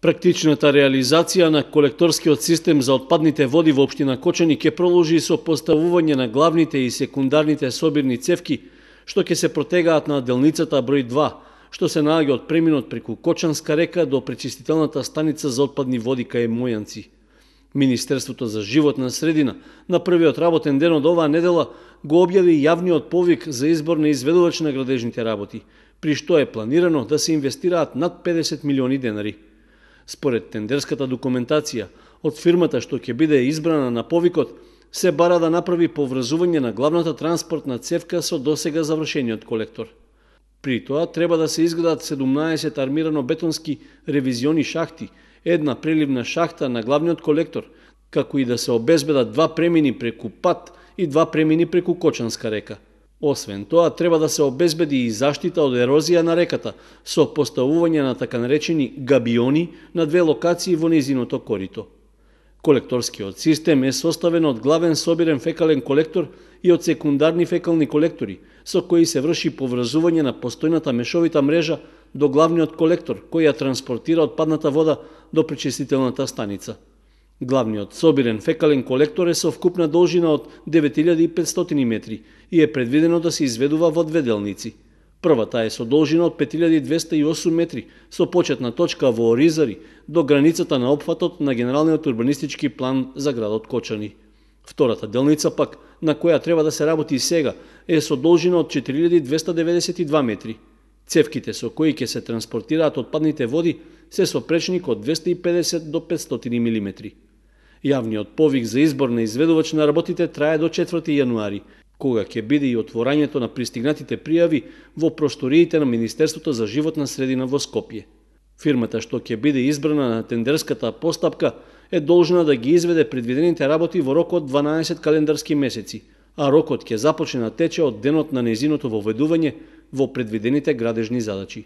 Практичната реализација на колекторскиот систем за отпадните води во општина Кочани ќе продолжи со поставување на главните и секундарните собирни цевки, што ќе се протегаат на делницата број 2, што се наоѓа од преминот преку Кочанска река до пречистителната станица за отпадни води кај Мојанци. Министерството за животна средина на првиот работен ден од оваа недела го објави јавниот повик за избор на изведувач на градежните работи, при што е планирано да се инвестираат над 50 милиони денари. Според тендерската документација, од фирмата што ќе биде избрана на повикот, се бара да направи поврзување на главната транспортна цевка со досега завршениот колектор. При тоа треба да се изградат 17 армирано-бетонски ревизиони шахти, една преливна шахта на главниот колектор, како и да се обезбедат 2 премини преку пат и 2 премини преку Кочанска река. Освен тоа, треба да се обезбеди и заштита од ерозија на реката со поставување на така наречени габиони на 2 локации во нејзиното корито. Колекторскиот систем е составен од главен собирен фекален колектор и од секундарни фекални колектори, со кои се врши поврзување на постојната мешовита мрежа до главниот колектор, кој ја транспортира отпадната вода до пречистителната станица. Главниот собирен фекален колектор е со вкупна должина од 9500 метри и е предвидено да се изведува во 2 делници. Првата е со должина од 5208 метри, со почетна точка во Оризари до границата на опфатот на генералниот урбанистички план за градот Кочани. Втората делница пак, на која треба да се работи сега, е со должина од 4292 метри. Цевките со кои ќе се транспортираат отпадните води се со пречник од 250 до 500 мм. Јавниот повик за избор на изведувач на работите трае до 4 јануари, кога ќе биде и отворањето на пристигнатите пријави во просториите на Министерството за животна средина во Скопје. Фирмата што ќе биде избрана на тендерската постапка е должна да ги изведе предвидените работи во рок од 12 календарски месеци, а рокот ќе започне да тече од денот на нејзиното воведување во предвидените градежни задачи.